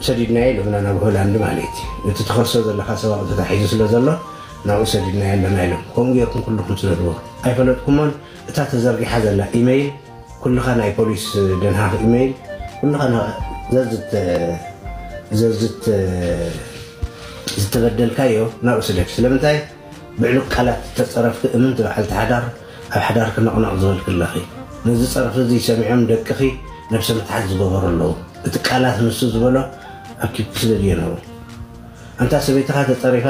ሰዲድናዮ ኢሎምና ናብ ሆላንድ ማለት እዩ። እቲ ትኸሶ ዘለኻ ሰብኣዊ ተታሒዙ ስለ ዘሎ ናብኡ ሰዲድናዮ ኣለና ኢሎም። ከምኡ ጌርኩም ኩልኹም ስደድዎ። ኣይፈለጥኩሞን። እታ ተዘርጊሓ ዘላ ኢሜይል ኩልኻ ናይ ፖሊስ ደንሃኽ ኢሜይል ኩልኻ ና- ዘዝት ዘዝት ዝተበደልካዮ ናብኡ ስደድ። ስለምንታይ ብዕሉግ ቃላት ተጸረፍኪ እምንቲ በዓልቲ ሓዳር ኣብ ሓዳርኪ ነቕነቕ ዝበልኪ ኣለኺ። ነዚ ጸርፊ እዚ ሰሚዖም ደቅኺ ነብሰ ምትሓት ዝገበሩ ኣለዉ። እቲ ቃላት ንሱ ዝበሎ ኣብ ኪብኪ ስደድዮ ነብሩ። ኣንታ ሰበይትኻ ተጸሪፋ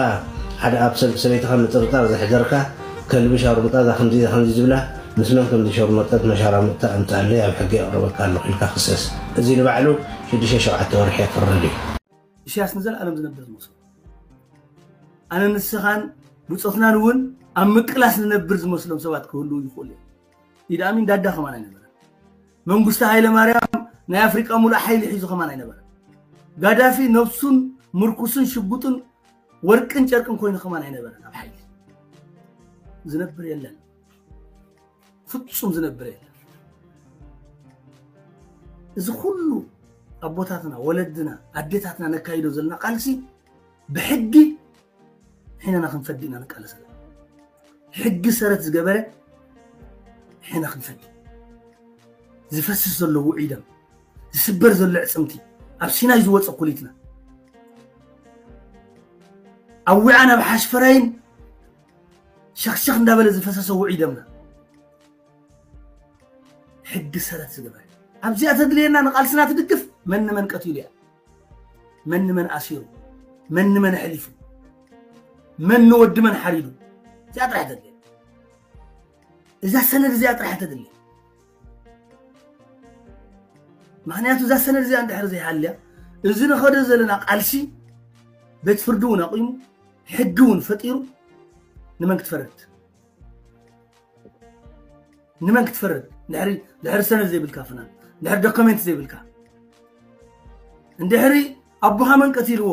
ሓደ ኣብ ሰብ ሰበይትኻ ምጥርጣር ዘሕደርካ ከልቢ ሻርሙጣ እዛ ከምዚ እዛ ከምዚ ዝብላ ምስ መን ከምዚ ሸርመጠት መሻራሙጥታ ኣምጻለይ ኣብ ሕጊ የቕርበካ ኣለኹ ኢልካ ክሰስ። እዚ ንባዕሉ ሽዱሽተ ሸውዓተ ወርሒ የፍርድ እዩ። ኢሳያስ ንዘለኣለም ዝነብር ዝመስሎ ኣነ ንስኻን ብፆትናን እውን ኣብ ምቅላስ ንነብር ዝመስሎም ሰባት ክህልዉ ይኽእሉ እዮም። ኢድ ኣሚን ዳዳ ከማን ኣይነበረን። መንግስቱ ሃይለ ማርያም ናይ ኣፍሪቃ ሙሉእ ሓይሊ ሒዙ ከማን ኣይነበረን። ጋዳፊ ነብሱን ምርኩስን ሽጉጥን ወርቅን ጨርቅን ኮይኑ ከማን ኣይነበረን። ኣብ ሓይሊ ዝነብር የለን፣ ፍጹም ዝነብር የለን። እዚ ኩሉ ኣቦታትና ወለድና ኣዴታትና ነካይዶ ዘለና ቃልሲ ብሕጊ ሕነና ክንፈዲ ኢና ንቃለስ ዘለና። ሕጊ ሰረት ዝገበረ ሕነ ክንፈዲ። ዝፈስስ ዘሎ ውዑይ ደም፣ ዝስበር ዘሎ ዕፅምቲ፣ ኣብ ሲናይ ዝወፀ ኩሊትና፣ ኣብ ውዓን ኣብ ሓሽፈራይን ሸኽሸኽ እንዳበለ ዝፈሰሰ ውዑይ ደምና ሕጊ ሰረት ዝገበረ። ኣብዚኣ ተድልየና ንቃልስና ትድግፍ መን ንመን ቀቲሉ እያ፣ መን ንመን ኣሲሩ፣ መን ንመን ኣሕሊፉ፣ መን ንወዲ መን ሓሪዱ። እዚኣ ጥራሕ ተድልየ። እዛ ሰነድ እዚኣ ጥራሕ ተድልየ። ምክንያቱ እዛ ሰነድ እዚኣ እንድሕር ዘይሃልያ እዚ ንኸዶ ዘለና ቃልሲ ቤት ፍርዲ እውን ኣቂሙ ሕጊ እውን ፈጢሩ ንመን ክትፈርድ ንመን ክትፈርድ ድሕሪ ድሕሪ ሰነድ ዘይብልካ ፍናን ድሕሪ ዶክመንት ዘይብልካ እንድሕሪ ኣቦኻ መን ቀቲልዎ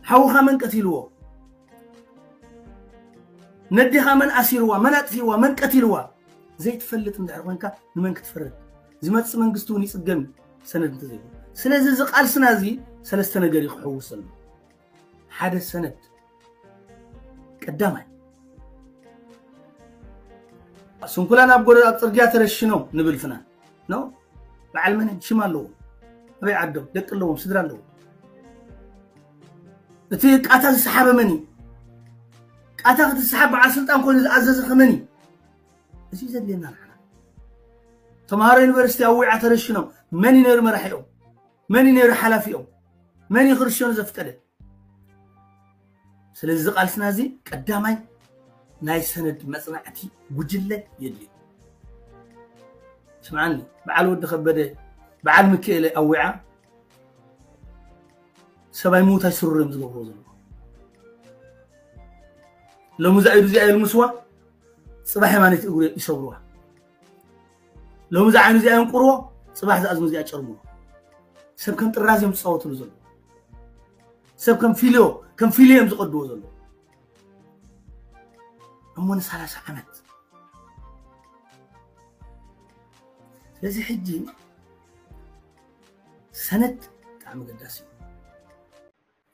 ሓውኻ መን ቀቲልዎ ነዲኻ መን ኣሲርዋ መን ኣጥፊዋ መን ቀቲልዋ ዘይትፈልጥ እንድሕር ኮንካ ንመን ክትፈርድ ዝመፅእ መንግስቲ እውን ይፅገም ሰነድ እንተዘይብሉ ስለዚ እዚ ቃልስና እዚ ሰለስተ ነገር እዩ ክሕውስ ዘሎ ሓደ ሰነድ ቀዳማይ ስንኩላን ኣብ ጎረ ኣብ ፅርግያ ተረሽኖም ንብል ፍናን ነው በዓል መን ሽም ኣለዎም ኣበይ ዓዶም ደቂ ኣለዎም ስድራ ኣለዎም እቲ ቃታ ዝሰሓበ መን እዩ ቃታ ክትሰሓብ በዓል ስልጣን ኮይኑ ዝኣዘዘ ከመን እዩ እዚ ዘድልየና ንዓና ተምሃሮ ዩኒቨርሲቲ ኣብ ዊዓ ተረሽኖም መን እዩ ነይሩ መራሒኦም መን እዩ ነይሩ ሓላፊኦም መን እዩ ክርሸኑ ዘፍቀደ ስለዚ ቃልስና እዚ ቀዳማይ ናይ ሰነድ መፅናዕቲ ጉጅለ የድልዮ ስምዓኒ በዓል ወዲ ከበደ በዓል ምክኤለ ኣዊዓ ሰብኣይ ምውት ኣይስሩር እዮም ዝገብርዎ ዘለዉ ሎሚ እዛ ኢዱ እዚኣ የልምስዋ ፅባሕ የማነይቲ እግሩ ይሰብርዋ ሎሚ እዛ ዓይኑ እዚኣ የንቁርዎ ፅባሕ ዝኣዝኑ እዚኣ ጨርምዎ ሰብ ከም ጥራዝ እዮም ዝፃወትሉ ዘለዉ ሰብ ከም ፊልዮ ከም ፊልዮ እዮም ዝቀድዎ ዘለዉ እሞ ንሰላሳ ዓመት ስለዚ ሕጂ ሰነድ ብጣዕሚ ገዳሲ እዩ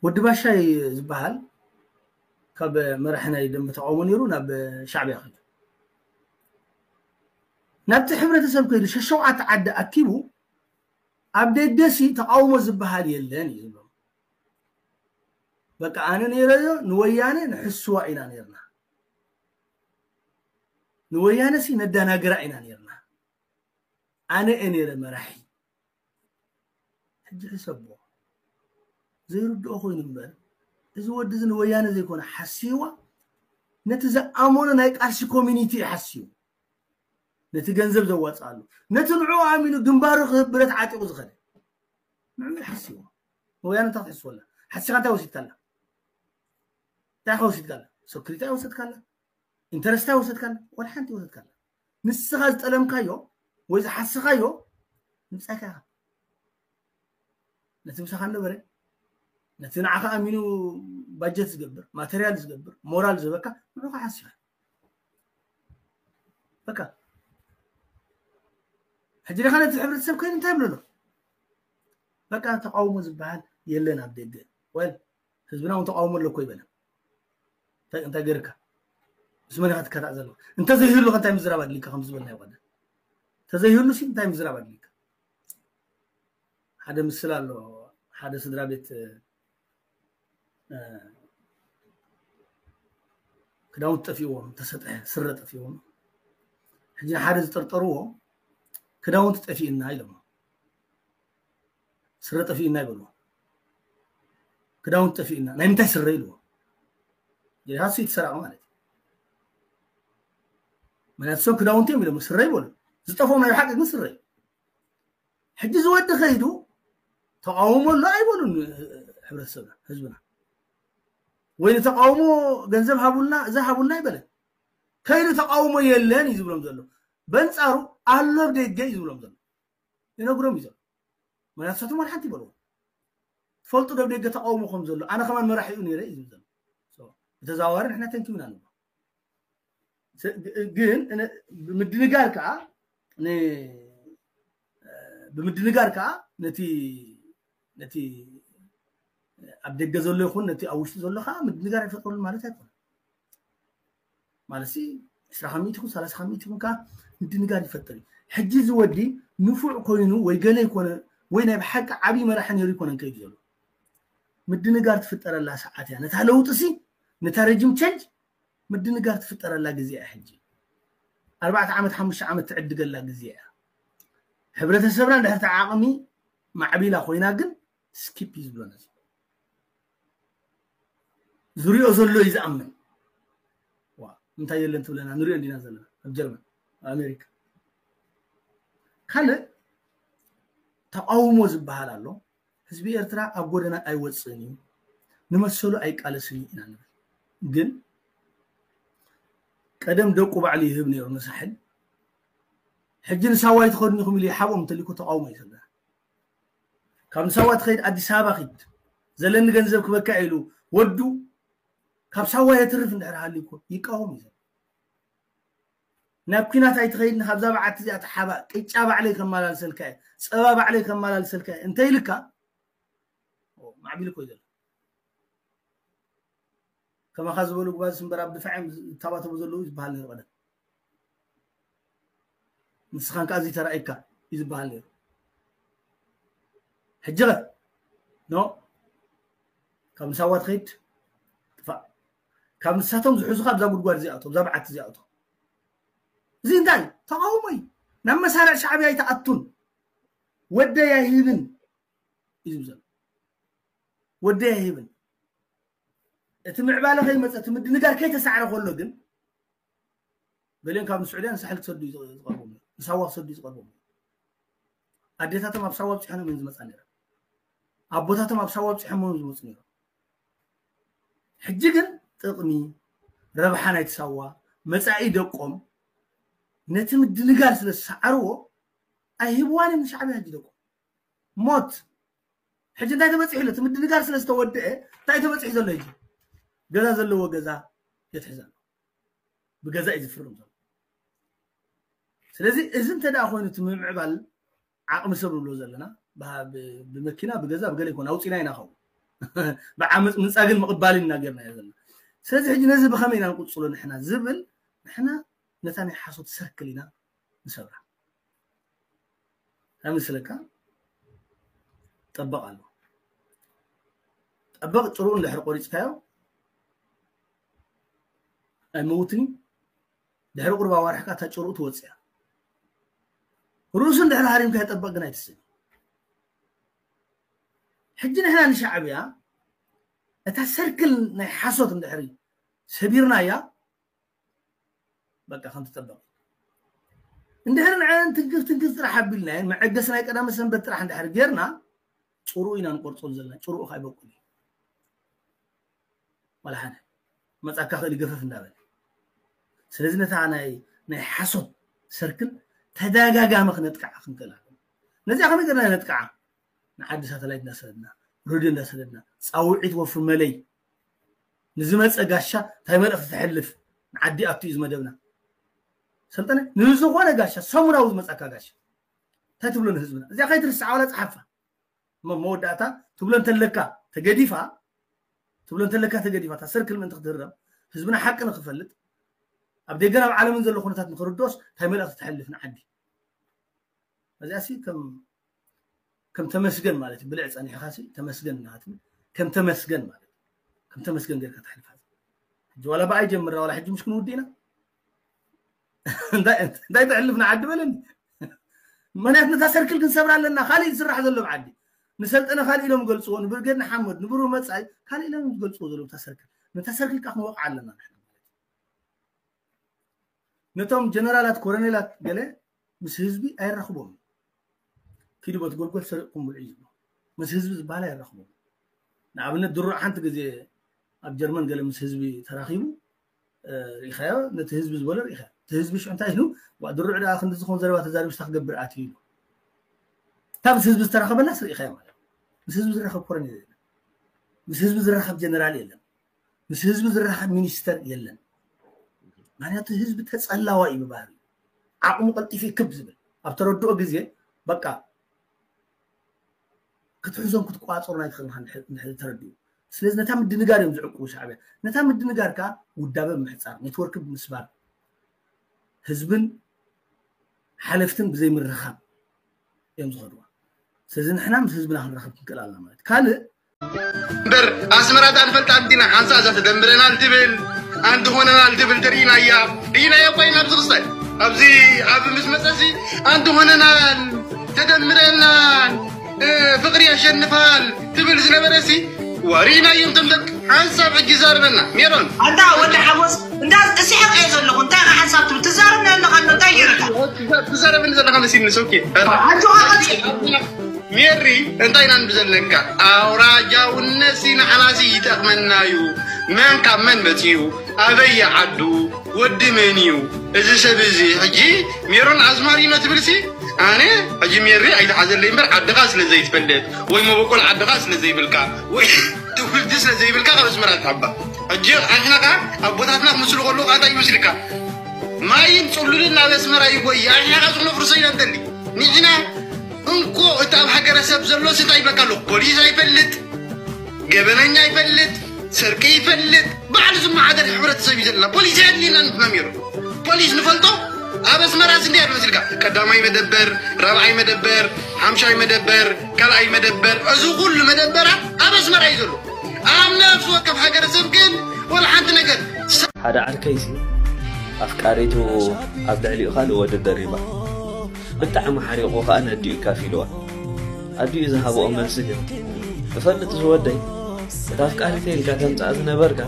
ወዲ ባሻይ ዝበሃል ካብ መራሒ ናይ ደንበ ተቃውሞ ነይሩ ናብ ሻዕብያ ከይዱ ናብቲ ሕብረተሰብ ከይዱ ሸሸውዓተ ዓዲ ኣኪቡ ኣብ ደገሲ ተቃውሞ ዝበሃል የለን እዩ ዝብሎም በቃ ኣነ ነይረዮ ንወያነ ንሕስዋ ኢና ነርና ንወያነ ሲ ነዳናግራ ኢና ነርና ኣነ እየ ነይረ መራሒ ሕጂ ሕሰቦ ዘይርድኦ ኮይኑ እምበር እዚ ወዲ እዚ ንወያነ ዘይኮነ ሓስይዋ ነቲ ዝኣመኖ ናይ ቃልሲ ኮሚኒቲ እዩ ሓስዩ ነቲ ገንዘብ ዘዋፅኣሉ ነቲ ንዑ ኣሚኑ ግንባሩ ክህብ ብረት ዓጢቑ ዝኸደ ንዑ ሓስይዋ ንወያነ እንታይ ክትሕስወላ ሓሲኻ እንታይ ወሲድካላ እንታይ ወሲድካላ ሰክሪታ ወሰድካላ ኢንተረስታ ወሰድካላ ወላ ሓንቲ ወሰድካላ ንስኻ ዝጠለምካዮ ወይ ዝሓስኻዮ ምጻካ ኢኻ ነቲ ምሳኻ ነበረ ነቲ ንዓኻ ኣሚኑ ባጀት ዝገብር ማተርያል ዝገብር ሞራል ዝበካ ንዑኻ ሓሲኻ በቃ ሕጂ ዲኻ ነቲ ሕብረተሰብ ኮይኑ እንታይ ብለሎ በቃ ተቃውሞ ዝበሃል የለን ኣብ ደገ። ወል ህዝብና እውን ተቃውሞ ኣሎ እኮ ይበለ። እንታይ እንታይ ገርካ? ምስ መን ኢኻ ትከታዕ ዘለኻ? እንተዘይህሉ ከ እንታይ ምዝራብ ኣድሊካ ከም ዝበልናዮ ቀደም? እንተዘይህሉ ሲ እንታይ ምዝራብ ኣድሊካ? ሓደ ምስል ኣሎ። ሓደ ስድራ ቤት ክዳውንቲ ጠፊእዎም፣ ተሰጠ ስረ ጠፊእዎም። ሕጂ ሓደ ዝጠርጠርዎ ክዳውንቲ ጠፊእና ኢሎም፣ ስረ ጠፊእና ይበልዎ። ክዳውንቲ ጠፊእና ናይ ምንታይ ስረ ኢልዎ? ጌታሱ ይተሰራቀ ማለት እዩ። ምክንያቱ ሰብ ክዳውንቲ እዮም ኢሎም ስረ ይበሉ። ዝጠፍኦም ናይ ብሓቂ ግን ስረ እዩ። ሕጂ ዝወዲ ከይዱ ተቃውሞ ኣሎ ኣይበሉን። ሕብረተሰብና ህዝብና ወይ ንተቃውሞ ገንዘብ ሃቡልና እዛ ሃቡልና ኣይበለን። ከይዱ ተቃውሞ የለን እዩ ዝብሎም ዘሎ። በንጻሩ ኣሎ ኣብ ደገ እዩ ዝብሎም ዘሎ። ይነግሮም እዩ ዘሎ። ምክንያቱ ንሳቶም ዋላ ሓንቲ ይበልዎ ትፈልጡ ዶ ደገ ተቃውሞ ከም ዘሎ ኣነ ከማን መራሒኡ ነይረ እዩ ዝብል ዘሎ። ብተዘዋዋሪ ንሕና ተንኪብና ንብሎ። ግን ብምድንጋር ከዓ ን- ብምድንጋር ከዓ ነቲ ነቲ ኣብ ደገ ዘሎ ይኹን ነቲ ኣብ ውሽጢ ዘሎ ከዓ ምድንጋር ኣይፈጥረሉ ማለት ኣይኮነ። ማለት ሲ ዕስራ ካብ ሚእቲ ይኹን ሰላሳ ካብ ሚእቲ ይኹን ከዓ ምድንጋር ይፈጥር እዩ። ሕጂ እዚ ወዲ ንፉዕ ኮይኑ ወይ ገለ ይኮነ ወይ ናይ ብሓቂ ዓብዪ መራሒ ነይሩ ይኮነን ከይዱ ዘሎ። ምድንጋር ትፍጠረላ ሰዓት እያ። ነታ ለውጢ ሲ ነታ ረጅም ቸንጅ ምድንጋር ትፍጠረላ ግዜ እያ። ሕጂ ኣርባዕተ ዓመት ሓሙሽተ ዓመት ትዕድገላ ግዜ እያ። ሕብረተሰብና እንድሕር ተዓቕሚ ማዕቢላ ኮይና ግን ስኪፕ እዩ ዝብሎ ነዚ። ዝሪኦ ዘሎ እዩ ዝኣምን። ዋ እንታይ የለን ትብለና ንሪኦ እንዲና ዘለና ኣብ ጀርመን ኣብ ኣሜሪካ። ካልእ ተቃውሞ ዝበሃል ኣሎ። ህዝቢ ኤርትራ ኣብ ጎደና ኣይወፅእን እዩ፣ ንመሰሉ ኣይቃለስን እዩ ኢና ንብል። ግን ቀደም ደቁ ባዕሉ ይህብ ነይሩ ንሳሕል። ሕጂ ንሳዋ ኣይትኸዱን ኢኹም ኢሉ ይሓብኦም እንተሊኩ ተቃውሞ እዩ ዘለና። ካብ ንሳዋ ትኸይድ ኣዲስ ኣበባ ኺድ ዘለኒ ገንዘብ ክበካ ኢሉ ወዱ ካብ ሳዋ የትርፍ እንድሕር ሃሊኮ ይቃወም እዩ። ናብ ኲናት ኣይትኸይድን፣ ካብዛ በዓቲ እዚኣ ተሓባእ፣ ቅጫ ባዕለይ ከመላልሰልካ እየ፣ ፀባ ባዕለይ ከመላልሰልካ እየ እንተ ኢልካ ማዕቢል እኮ እዩ ዘሎ። ከማኻ ዝበሉ ጉባዝ እምበር ኣብ ድፋዕ እዮም ዝታባተቡ ዘለዉ ዝበሃል ነይሩ ቀደም። ንስኻን ከኣ እዚ ተራእይካ እዩ ዝበሃል ነይሩ። ሕጂ ኸ ኖ ካብ ንሳዋ ትኸይድ ጥፋእ። ካብ ንሳቶም ዝሕዙኻ ኣብዛ ጉድጓድ እዚኣቶ ኣብዛ በዓቲ እዚኣቶ። እዚ እንታይ ተቃውሞ እዩ። ናብ መሳርዕ ሻዕብያ ኣይትኣቱን። ወደይ ኣይህብን እዩ ዝብል ዘሎ። ወደይ ኣይህብን። እቲ ምዕባለ ከይመፀ እቲ ምድንጋር ከይተሳዕረ ከሎ ግን ገሊኦም ካብ ንስዑድያ ንሳሕል ክሰዱ እዩ ዝቐርቦም ነይሩ። ንሳዋ ክሰዱ እዩ ዝቐርቦም ነይሩ። ኣዴታቶም ኣብ ሳዋ ኣብፂሖም እዮም ዝመፃ ነይረ። ኣቦታቶም ኣብ ሳዋ ኣብፂሖም እዮም ዝመፁ ነይሮም። ሕጂ ግን ጥቕሚ ረብሓ ናይቲ ሳዋ መፃኢ ደቆም ነቲ ምድንጋር ስለ ዝሰዓርዎ ኣይህብዋን እዮም ንሻዕብያ ሕጂ ደቆም ሞት። ሕጂ እንታይ ተበፂሑ ኣሎ? እቲ ምድንጋር ስለ ዝተወደአ እንታይ ተበፂሑ ዘሎ? ሕጂ ገዛ ዘለዎ ገዛ የትሕዝ ኣሎ። ብገዛ እዩ ዝፍርም ዘሎ። ስለዚ እዚ እንተ ደኣ ኮይኑ እቲ ምምዕባል ዓቕሚ ሰብ ንብሎ ዘለና ብሃ- ብ- ብመኪና ብገዛ ብገለ ይኮን ኣውፂና ኢና ኸው ብዓመፅ ምንፃግን ምቕባልን ኢና ጌርና እያ ዘለና። ስለዚ ሕጂ ነዚ ብኸመይ ኢና ንቁፅሎ ንሕና ዝብል ንሕና ነታ ናይ ሓሶት ሰርክል ኢና ንሰብራ። ከምስለካ ጠበቕ ኣሎ። ጠበቕ ጭርኡ እንድሕር ቆሪፅካዮ ኣይመውትን እዩ። ድሕሪ ቁርባ ዋርሕካ እታ ጭርኡ ትወፅእ እያ። ርእሱ እንድሕር ሃሪምካ የጠበቕ ግን ኣይትስእን። ሕጂ ንሕና ንሻዕብያ እታ ሰርክል ናይ ሓሶት እንድሕሪ ሰቢርናያ በቃ ከም ትጠበቕ እንድሕር ንዐን ትንክፍ ትንክፍ ጥራሕ ኣቢልናየን መዐገሲ ናይ ቀዳመ ሰንበት ጥራሕ እንድሕር ጌርና ጭርኡ ኢና ንቆርፀሉ ዘለና። ጭርኡ ካይበቁል እዩ ዋላ ሓደ መፃካ ክእል ገፈፍ እንዳበለ ስለዚ ነታ ናይ ናይ ሓሶት ሰርክል ተደጋጋሚ ክነጥቅዓ ክንክእል ኣለና። ነዚኣ ከመይ ገርና ነጥቅዓ? ንዓዲ ሳተላይት እንዳሰደድና ሬድዮ እንዳሰደድና ፃውዒት ወፍር መለይ ንዝመፀ ጋሻ እንታይ መልእክቲ ተሕልፍ ንዓዲ ኣቱ እዩ ዝመደብና። ሰልጠነ ንዝኾነ ጋሻ ሰሙናዊ ዝመፃካ ጋሻ እንታይ ትብሎ ንህዝብና እዚኣ ከይትርስዓ ዋላ ፀሓፋ እሞ መወዳእታ ትብሎ እንተለካ ተገዲፋ ትብሎ እንተለካ ተገዲፋ እታ ሰርክል ምእንቲ ክትህረም ህዝብና ሓቂ ንክፈልጥ ኣብ ደገን ኣብ ዓለምን ዘሎ ኩነታት ንክርድኦስ እንታይ መልእኽቲ ተሕልፍ ንዓዲ? እዚኣሲ ከም ከም ተመስገን ማለት እዩ። ብልዕ ጸኒሕኻሲ ተመስገን እናትብል ከም ተመስገን ማለት እዩ። ከም ተመስገን ጌርካ ተሕልፋ። ሕጂ ዋላ ብኣይ ጀምራ ዋላ ሕጂ ምሽ ክንውድእ ኢና እንታይ እንታይ ተሕልፍ ንዓዲ በለኒ። ምክንያት ነታ ሰርክል ክንሰብራ ኣለና። ካልእ ዝስራሕ ዘሎ ብዓዲ ንሰልጠነ ካልእ ኢሎም ገልፅዎ ንብርጌድ ንሓመድ ንብሩ መፃኢ ካልእ ኢሎም ዝገልፅዎ ዘለዉ እታ ሰርክል ነታ ሰርክል ከዓ ክንወቕዓ ኣለና ንሕና ማለት እዩ። ነቶም ጀነራላት ኮረኔላት ገለ ምስ ህዝቢ ኣይራኽቦም። ኪዱ በቲ ጎልጎል ሰሪቕኩም ብልዑ እዩ ዝብሎ። ምስ ህዝቢ ዝበሃል ኣይራኽቦም። ንኣብነት ድሩዕ ሓንቲ ግዜ ኣብ ጀርመን ገለ ምስ ህዝቢ ተራኺቡ እ፣ ርኢኻዮ ነቲ ህዝቢ ዝበሎ ርኢኻ እቲ ህዝቢ ሽዑ እንታይ ኢሉ ዋ ድሩዕ ደኣ ክንዲ ዝኾን ዘረባ ተዛሪቡ ሽታ ክገብር ኣትዩ ኢሉ እታ ምስ ህዝቢ ዝተራኸበላስ ርኢኻዮ ማለት ምስ ህዝቢ ዝራኸብ ኮረኔል የለን ምስ ህዝቢ ዝራኸብ ጀነራል የለን ምስ ህዝቢ ዝራኸብ ሚኒስተር የለን ምክንያቱ ህዝቢ ተጸላዋ እዩ ብባህሪ ዓቕሙ ቀልጢፉ ክብ ዝብል ኣብ ተረድኦ ግዜ በቃ ክትሕዞን ክትቋፀሮን ኣይትኽእልን እንድሕር ተረዲኡ ስለዚ ነታ ምድንጋር እዮም ዝዕቅቡ ሻዕብያ ነታ ምድንጋር ከዓ ውዳበ ብምሕፃር ኔትወርክ ብምስባር ህዝብን ሓለፍትን ብዘይምርኻብ እዮም ዝኸድዋ ስለዚ ንሕና ምስ ህዝብና ክንራኸብ ክንክእል ኣለና ማለት ካልእ እምበር ኣስመራ እዛ ንፈልጣ እንዲና ሓንሳ እዛ ተደምረናል ትብል ኣንድ ሆነናል ትብል ትርኢና እያ ርኢናዮ እኮ ኢና ኣብዚ ክስታይ ኣብዚ ኣብ ምስ መፀሲ ኣንድ ሆነናል ተደምረናል ፍቅሪ ያሸንፋል ትብል ዝነበረ ሲ ወሪና እዮም ተምደቅ ሓንሳብ ሕጂ ዛርበና ሜሮን ኣንታ ወዲ ሓጎስ እንዳ እስሕቅ እየ ዘለኹ እንታይ ሓንሳብ ትብል ትዛረብ ኣለኻ እንታይ ገይረካ ትዛረብኒ ዘለኻ መሲልኒ ሶኬ ኣጆኻ ቀጽል ሜሪ እንታይ ኢና ንብል ዘለና ኣውራጃውነት ሲ ንዓና ሲ ይጠቕመና እዩ መን ካብ መን መፅኡ ኣበይ ዓዱ ወዲ መን እዩ እዚ ሰብ እዚ ሕጂ ሜሮን ኣዝማሪኖ ትብል ሲ ኣነ ሕጂ ሜሪ ኣይትሓዘለይ እምበር ዓድኻ ስለ ዘይትፈልጥ ወይ መበቆል ዓድኻ ስለ ዘይብልካ ወይ ትውልዲ ስለ ዘይብልካ ካብ ኣስመራ ትሓባ ሕጂ ኣሕና ከዓ ኣቦታትና ክምስሉ ከለዉ ከዓ እንታይ ይመስልካ ማይን ፅሉልን ናብ ኣስመራ ይጎይ ኣሕና ከዓ ዝኽነፍርሶ ኢና ንደሊ ንሕና እንኮ እቲ ኣብ ሃገረሰብ ዘሎ እንታይ ይበካ ኣለኹ ፖሊስ ኣይፈልጥ ገበነኛ ይፈልጥ፣ ስርቂ ይፈልጥ፣ ባዕሉ ዝመሓደር ሕብረተሰብ እዩ ዘለና። ፖሊስ ኣየድልየናን ንሕና ሜሮን። ፖሊስ ንፈልጦ ኣብ ኣስመራ ስንደይ ኣሎ መሲልካ ቀዳማይ መደበር፣ ራብዓይ መደበር፣ ሓምሻይ መደበር፣ ካልኣይ መደበር፣ እዚ ኩሉ መደበራት ኣብ ኣስመራ እዩ ዘሎ። ኣብ ነፍሲ ወከፍ ሃገረሰብ ግን ወላ ሓንቲ ነገር። ሓደ ዓርከይሲ ኣፍቃሪቱ ኣብ ልዕሊኡ ካልእ ወዲ ደሪባ። ብጣዕሚ ሓሪቑ ከኣ ነዲኡ ይካፊልዋ። ኣዲኡ ዝሃብኦ መልሲ ግን፣ እፈልጥ ዝወደይ፣ እታ ኣፍቃሪተይ ኢልካ ተምጽኣ ዝነበርካ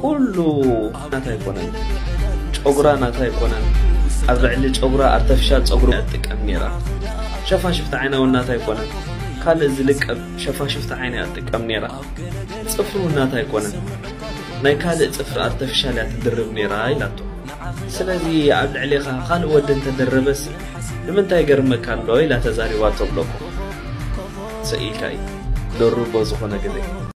ኩሉ ናታ ኣይኮነን። ጨጉራ ናታ ኣይኮነን። ኣብ ልዕሊ ጨጉራ ኣርተፊሻል ጸጉሪ እያ ትጥቀም ነይራ። ሸፋሽፍቲ ዓይና እውን ናታ ኣይኮነን። ካልእ ዝልቀብ ሸፋሽፍቲ ዓይና እያ ትጥቀም ነይራ። ጽፍሪ እውን ናታ ኣይኮነን። ናይ ካልእ ጽፍሪ ኣርተፊሻል እያ ትድርብ ነይራ ኢላቶ። ስለዚ ኣብ ልዕሌኻ ካልእ ወዲ እንተደረበስ ንምንታይ ይገርመካ ኣሎ ኢላ ተዛሪባቶ ብለኩም ስኢልካ እዩ ደርቦ ዝኾነ ግዜ